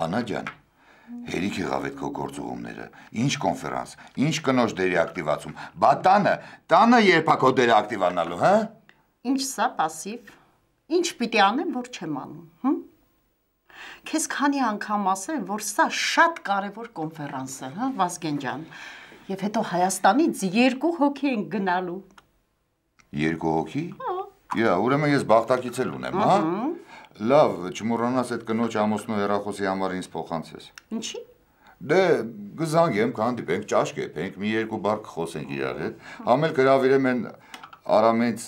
Անա ջան, հերիք եղավ այդ քո գործողումները, ինչ կոնֆերանս, ինչ կնոջ դերի ակտիվացում, բա տանը երբ է քո դերը ակտիվանալու, հա? Ինչ սա պասիվ, ինչ պիտի անեմ, որ չեմ անում, Քեզ քանի անգամ ասել, որ սա շատ կարևոր կոնֆերանս է, հա, Վազգեն ջան, եւ հետո Հայաստանից 2 հոգի են գնալու։ 2 հոգի? Հա, ուրեմն ես բախտակից էլ ունեմ, հա? Լավ, չմոռանաս այդ կնոջ ամուսնու հեռախոսի համար ինձ փոխանցես։ Ինչի՞։ Դե գզանգեմ, կհանդիպենք, ճաշ կեպենք, մի 2 բառ կխոսենք իրար հետ, համել գրավիրեմ են Արամենց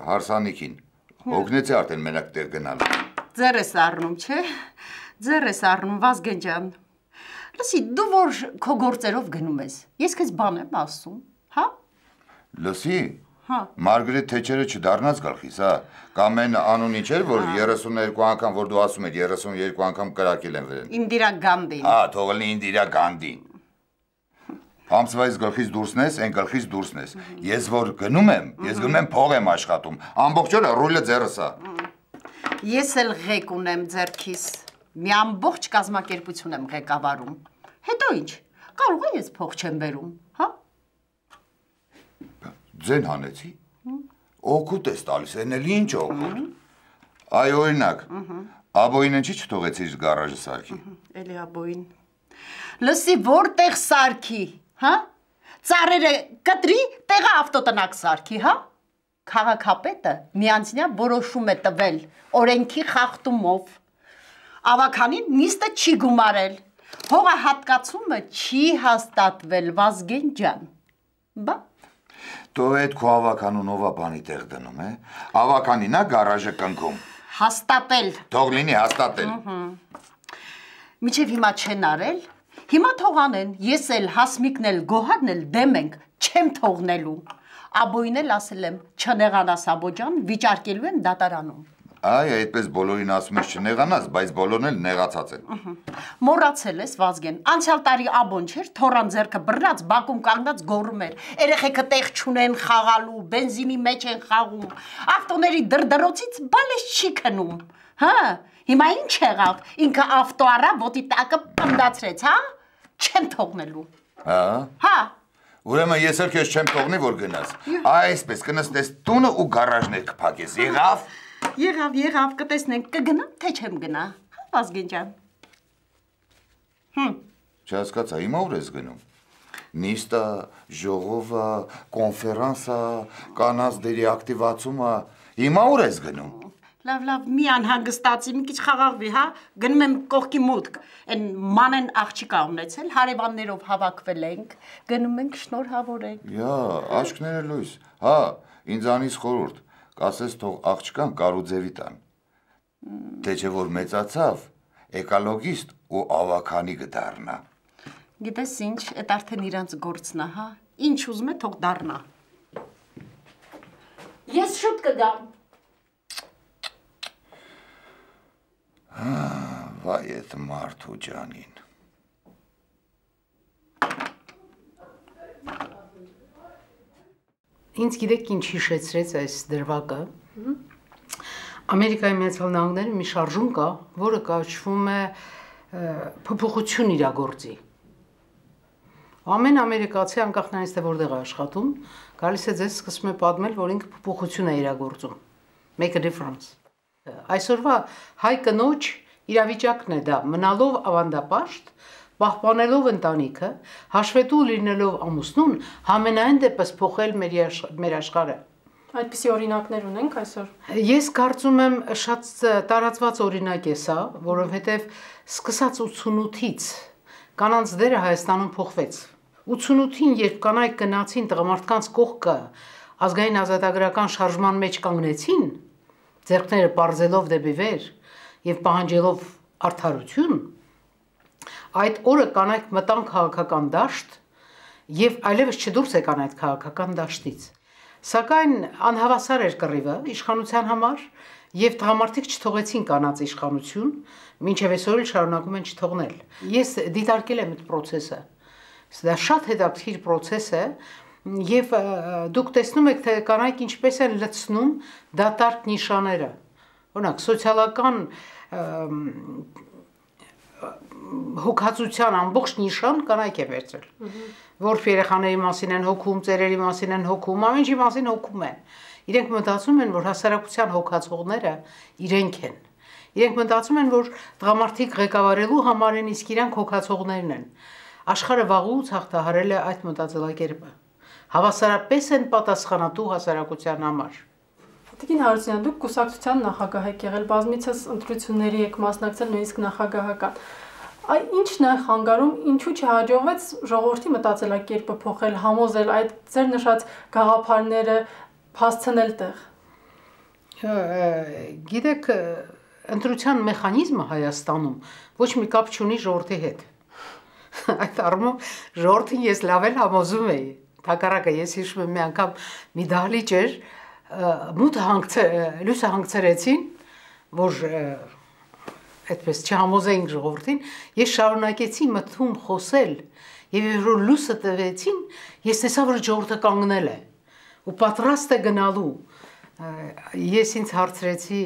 հարսանիքին, հոգնեցի արդեն մենակ տեղ գնալ։ Ձեր ես առնում, չէ՞։ Ձեր ես առնում, Վազգեն ջան։ Լսի, դու որ քո գործերով գնում ես, ես քեզ բան եմ ասում, հա։ Լսի, Հա։ Մարգարետ Թեչերը չդառնաց գլխիս, հա։ Կամ այն անունի չէր, որ 32 անգամ, որ դու ասում ես 32 անգամ կրակել են վերեն։ Ինդիրա Գանդին։ Հա, թողնի Ինդիրա Գանդին։ Ամսվայից գլխից դուրսնես, այն գլխից դուրսնես։ Ես որ գնում եմ փող եմ աշխատում։ Ամբողջ օրը ռուլը ձեռս է։ Ես էլ ղեկ ունեմ ձեռքիս, մի ամբողջ կազմակերպություն եմ ղեկավարում, հետո ինչ, կարող է ես փող չեմ բերում, հա? Ձեն հանեցի, օգուտ ես տալիս, են էլ ինչ օգուտ, այ օրինակ, աբոյին ինչի չթողեցիր գարաժը սարքի։ Էլի աբոյին, լսի որտեղ սարքի, հա? Ծառերը կտրի, տեղը ավտոտնակ սարքի, հա? Քաղաքապետը միանձնյա որոշում է տվել օրենքի խախտումով, ավականին նիստը չի գումարել, հողահատկացումը չի հաստատվել, Վազգեն ջան, բա։ Դու այդ քո ավականուն ով է բանի տեղ դնում, ավականին է գարաժը կնքում։ Հաստատել։ Թող լինի հաստատել։ Միջև հիմա չեն արել, հիմա թող անեն, ես էլ Հասմիկն էլ Գոհարն էլ դեմ ենք, չեմ թողնելու։ Աբոյին էլ ասել եմ, չնեղանաս Աբո ջան, վիճարկելու եմ դատարանում։ Այ, այդպես բոլորին ասում ես չնեղանաս, բայց բոլորն էլ նեղացած են։ Մոռացել ես, Վազգեն, անցյալ տարի Աբոն չէր, թորան ձեռքը բռնած, բակում կանգնած գոռում էր, երեխեքը տեղ չունեն խաղալու, բենզինի մեջ են խաղում, ավտոների դրդրոցից բալես չի քնում, հա, հիմա ինչ եղավ, ինքը ավտո առավ, ոտի տակը պնդացրեց, հա, չեմ թողնելու։ Հա։ Ուրեմն ես էլ քեզ չեմ թողնի, որ գնաս, այսպես կնստես տունը ու գարաժներ կփակես, եղավ։ Եղավ, կտեսնենք, կգնամ, թե չեմ գնա, հա, Վազգեն ջան։ Չհասկացա, հիմա ուր ես գնում։ Նիստը, ժողովը, կոնֆերանսը, կանանց դերի ակտիվացումը, հիմա ուր ես գնում։ Լավ, մի անհանգստացի, մի քիչ խաղաղվի, հա, գնում եմ կողքի մուտք, այն մանեն աղջիկա ունեցել, հարևաններով հավաքվել ենք, գնում ենք շնորհավորենք։ Յա, աչքները լույս, հա, ինձանից խորհուրդ, կասես թող աղջկան կարուձևի տան, թե չէ որ մեծացավ, էկոլոգիստ ու ավաքանի կդառնա։ Գիտես ինչ, այդ արդեն իրանց գործն է, հա, ինչ ուզում է թող դառնա։ Ես շուտ կգամ։ Վայ էդ մարդու ջանին։ Ինձ գիտեք ինչ հիշեցրեց այս դրվագը։ Ամերիկայի Միացյալ Նահանգներում մի շարժում կա, որը կոչվում է փոփոխություն իրագործի։ Ամեն ամերիկացի անկախ նրանից թե որտեղ է աշխատում, գալիս է ձեզ սկսում է պատմել, որ ինքը փոփոխություն է իրագործում։ Make a difference։ Այսօրվա հայ կնոջ իրավիճակն է դա, մնալով ավանդապաշտ, պահպանելով ընտանիքը, հաշվետու լինելով ամուսնուն, համենայն դեպս փոխել մեր աշխարհը։ Այդպիսի օրինակներ ունենք այսօր։ Ես կարծում եմ շատ տարածված օրինակ է սա, որովհետև սկսած 88-ից կանանց դերը Հայաստանում փոխվեց։ 88-ին, երբ կանայք գնացին տղամարդկանց կողքը ազգային ազատագրական շարժման մեջ կանգնեցին, ձեռքները պարզելով դեպի վեր եւ պահանջելով արդարություն, այդ օրը կանայք մտան քաղաքական դաշտ եւ այլևս չդուրս եկան այդ քաղաքական դաշտից։ Սակայն անհավասար էր կռիվը իշխանության համար եւ տղամարդիկ չթողեցին կանանց իշխանություն, մինչեւ այսօր էլ շարունակում են չթողնել։ Ես դիտարկել եմ այդ process-ը։ Դա շատ հետաքրքիր process է եւ դուք տեսնում եք թե կանայք ինչպես են լցնում դատարկ նիշաները։ Օրինակ սոցիալական հոգացության ամբողջ նիշան կանայք է վերցրել։ Որբ երեխաների մասին են հոգում, ծերերի մասին են հոգում, ամեն ինչի մասին հոգում են։ Իրենք մտածում են, որ հասարակության հոգացողները իրենք են։ Իրենք մտածում են, որ տղամարդիկ ղեկավարելու համար են, իսկ իրանք հոգացողներն են։ Աշխարհը վաղուց հաղթահարել է այդ մտածելակերպը։ Հավասարապես են պատասխանատու հասարակության համար։ Տիկին Հարությունյան, դուք կուսակցության նախագահ եք եղել, բազմիցս ընտրությունների եք մասնակցել, նույնիսկ նախագահական։ Ինչն է խանգարում, ինչու չհաջողվեց ժողովրդի մտածելակերպը փոխել, համոզել այդ ձեր նշած գաղափարները հասցնել տեղ։ Գիտեք, ընտրության մեխանիզմը Հայաստանում ոչ մի կապ չունի ժողովրդի հետ։ Այդ առումով ժողովրդին ես լավ էլ համոզում էի։ Հակառակը ես հիշում եմ մի անգամ մի դահլիճ էր, լույսը հանգցրեցին, որ այդպես չհամոզեինք ժողովրդին, ես շարունակեցի մտքում խոսել, եւ երբ լույսը տվեցին, ես տեսա, որ ժողովուրդը կանգնել է ու պատրաստ է գնալու։ Ես ինձ հարցրեցի,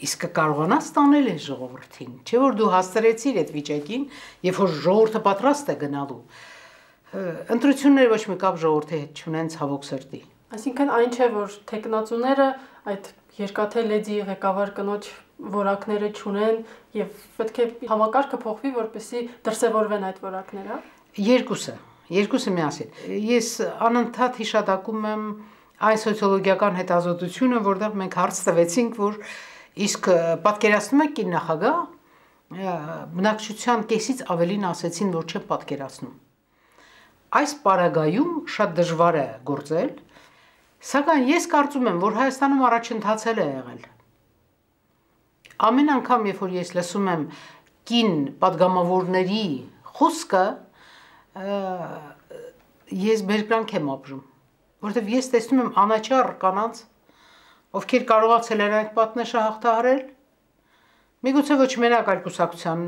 իսկ կարողանաս տանել այս ժողովրդին, չէ՞ որ դու հաստրեցիր այդ վիճակին, երբ որ ժողովուրդը պատրաստ է գնալու։ Ընտրությունները ոչ մի կապ ժողովրդի հետ չունեն, ցավոք սրտի։ Այսինքն այն չէ, որ տեխնացուները այդ երկաթե լեդի ղեկավար կնոջ որակները չունեն եւ պետք է համակարգը փոխվի, որպեսզի դրսևորվեն այդ որակները։ Երկուսը միասին։ Ես անընդհատ հիշատակում եմ այն սոցիոլոգիական հետազոտությունը, որտեղ մենք հարց տվեցինք, որ իսկ պատկերացնում եք կին նախագահ, բնակչության կեսից ավելին ասեցին, որ չեն պատկերացնում։ Այս պարագայում շատ դժվար է գործել, սակայն ես կարծում եմ, որ Հայաստանում առաջընթացել է եղել։ Ամեն անգամ, երբ որ ես լսում եմ կին պատգամավորների խոսքը, ես բերկրանք եմ ապրում, որովհետև ես տեսնում եմ անաչառ կանանց, ովքեր կարողացել են այդ պատնեշը հաղթահարել, միգուցե ոչ մենակ այլ կուսակցության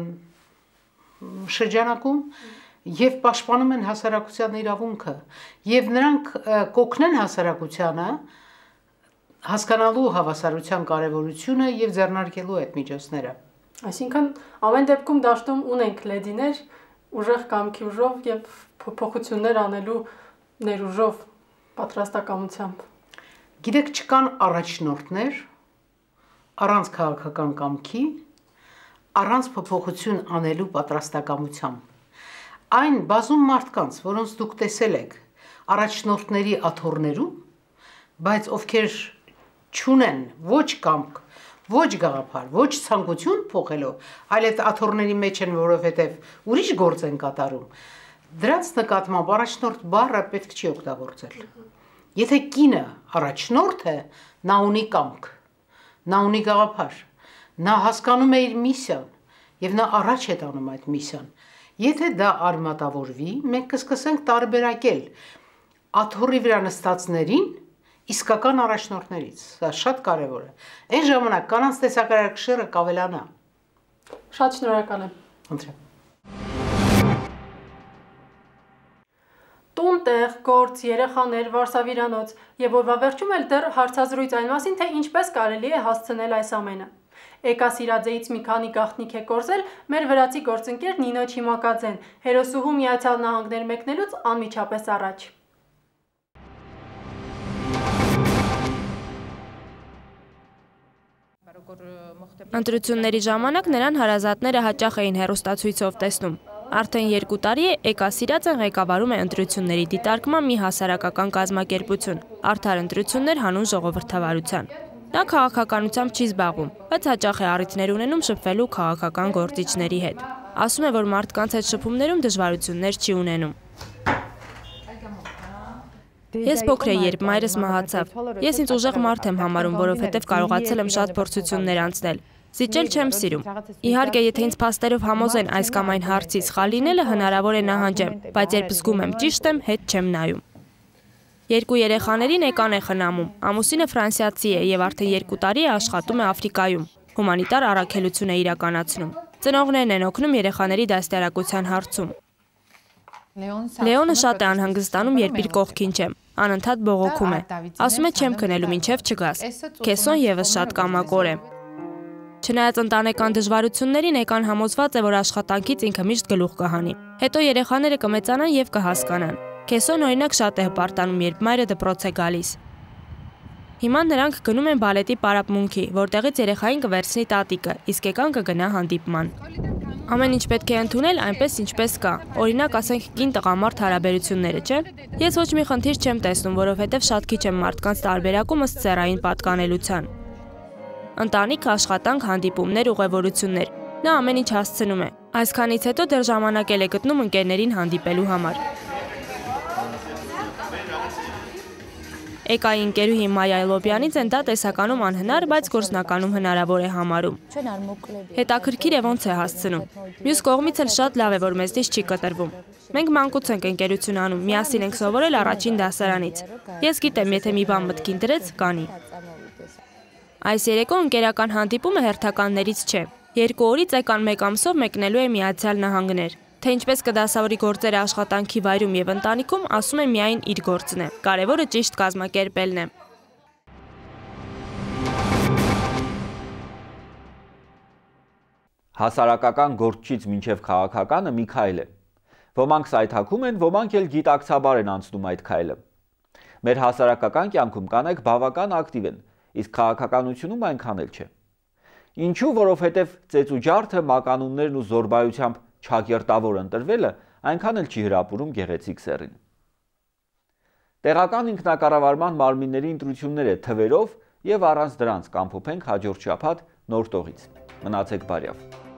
շրջանակում, եւ պաշտպանում են հասարակության իրավունքը, եւ նրանք կօգնեն հասարակությանը հասկանալու հավասարության կարեւորությունը եւ ձեռնարկելու այդ միջոցները։ Այսինքն ամեն դեպքում դաշտում ունենք լեդիներ, ուժեղ կամքի ուժով եւ փոփոխություններ անելու ներուժով, պատրաստակամությամբ։ Գիտեք, չկան առաջնորդներ առանց քաղաքական կամքի, առանց փոփոխություն անելու պատրաստակամությամբ։ Այն բազում մարդկանց, որոնց դուք տեսել եք առաջնորդների աթոռներում, բայց ովքեր չունեն ոչ կամք, ոչ գաղափար, ոչ ցանկություն փոխելու, այլ այդ աթոռների մեջ են, որովհետև ուրիշ գործ են կատարում, դրանց նկատմամբ առաջնորդ բառը պետք չի օգտագործել։ Եթե կինը առաջնորդ է, նա ունի կամք, նա ունի գաղափար, նա հասկանում է իր միսիան եւ նա առաջ է տանում այդ միսիան։ Եթե դա արմատավորվի, մենք կսկսենք տարբերակել աթոռի վրա նստածներին իսկական առաջնորդներից։ Դա շատ կարևոր է։ Այն ժամանակ կանանց տեսակարարքշիռը կավելանա։ Շատ շնորհակալ եմ։ Խնդրեմ։ Տուն, տեղ, գործ, երեխաներ, վարսավիրանոց եւ օրվա վերջում էլ դեռ հարցազրույց այն մասին, թե ինչպես կարելի է հասցնել այս ամենը։ Էկա Սիրաձեից մի քանի գաղտնիք է կորզել մեր վրացի գործընկեր Նինո Չիմակաձեն, հերոսուհու Միացյալ Նահանգներ մեկնելուց անմիջապես առաջ։ Ընտրությունների ժամանակ նրան հարազատները հաճախ էին հեռուստացույցով տեսնում։ Արդեն 2 տարի է Էկա Սիրաձեն ղեկավարում է ընտրությունների դիտարկման մի հասարակական կազմակերպություն՝ Արդար ընտրություններ հանուն ժողովրդավարության։ Նա քաղաքականությամբ չի զբաղվում, բայց հաճախ է առիթներ ունենում շփվելու քաղաքական գործիչների հետ։ Ասում է, որ մարդկանց հետ շփումներում դժվարություններ չի ունենում։ Ես փոքր էի, երբ մայրս մահացավ։ Ես ինձ ուժեղ մարդ եմ համարում, որովհետև կարողացել եմ շատ փորձություններ անցնել։ Զիջել չեմ սիրում։ Իհարկե, եթե ինձ փաստերով համոզեն այս կամ այն հարցի սխալ լինելը, հնարավոր է նահանջեմ, բայց երբ զգում եմ ճիշտ եմ, հետ չեմ նայում։ 2 երեխաներին Էկան է խնամում։ Ամուսինը ֆրանսիացի է եւ արդեն 2 տարի է աշխատում է Աֆրիկայում։ Հումանիտար առաքելություն է իրականացնում։ Ծնողներն են օգնում երեխաների դաստիարակության հարցում։ Լեոնը շատ է անհանգստանում, երբ իր կողքին չեմ։ Անընդհատ բողոքում է։ Ասում է չեմ քնելու, մինչև չգաս։ Քեսոն եւս շատ կամակոր է։ Չնայած ընտանեկան դժվարություններին Էկան համոզված է, որ աշխատանքից ինքը միշտ գլուխ կհանի։ Հետո երեխաները կմեծանան եւ կհասկանան։ Քեսոն օրինակ շատ է հպարտանում, երբ մայրը դպրոց է գալիս։ Հիմա նրանք գնում են բալետի պարապմունքի, որտեղից երեխային կվերցնի տատիկը, իսկ Էկան կգնա հանդիպման։ Ամեն ինչ պետք է ընդունել այնպես, ինչպես կա։ Օրինակ, ասենք կին-տղամարդ հարաբերությունները, չէ՞։ Ես ոչ մի խնդիր չեմ տեսնում, որովհետև շատ քիչ եմ մարդկանց տարբերակում ըստ սեռային պատկանելության։ Ընտանիք, աշխատանք, հանդիպումներ, ուղևորություններ։ Նա ամեն ինչ հասցնում է։ Այսքանից հետո դեռ ժամանակ է գտնում ընկերներին հանդիպելու համար։ Էկայի ընկերուհի Մայա Այլոբյանիցեն դա տեսականում անհնար, բայց գործնականում հնարավոր է համարում։ Հետաքրքիր է ոնց է հասցնում։ Մյուս կողմից էլ շատ լավ է, որ մեզնից չի կտրվում։ Մենք մանկուց ենք ընկերություն անում, միասին ենք սովորել առաջին դասարանից։ Ես գիտեմ, եթե մի բան մտքին դրեց, կանի։ Այս երեկո ընկերական հանդիպումը հերթականներից չէ։ 2 օրից Էկան 1 ամսով մեկնելու է Միացյալ Նահանգներ։ Թե ինչպես կդասավորի գործերը աշխատանքի վայրում եւ ընտանիքում, ասում է միայն իր գործն է։ Կարևորը ճիշտ կազմակերպելն է։ Հասարակական գործչից մինչև քաղաքականը մի քայլ է։ Ոմանք սայթաքում են, ոմանք էլ գիտակցաբար են անցնում այդ քայլը։ Մեր հասարակական կյանքում կանայք բավական ակտիվ են, իսկ քաղաքականությունում այնքան էլ չէ։ Ինչու, որովհետև ծեծուջարդը, մականուններն ու զորբայությամբ չակերտավոր ընտրվելը այնքան էլ չի հրապուրում գեղեցիկ սեռին։ Տեղական ինքնակառավարման մարմինների ընտրությունները թվերով եւ առանց դրանց կամփոփենք հաջորդ շաբաթ նոր տողից։ Մնացեք բարյավ։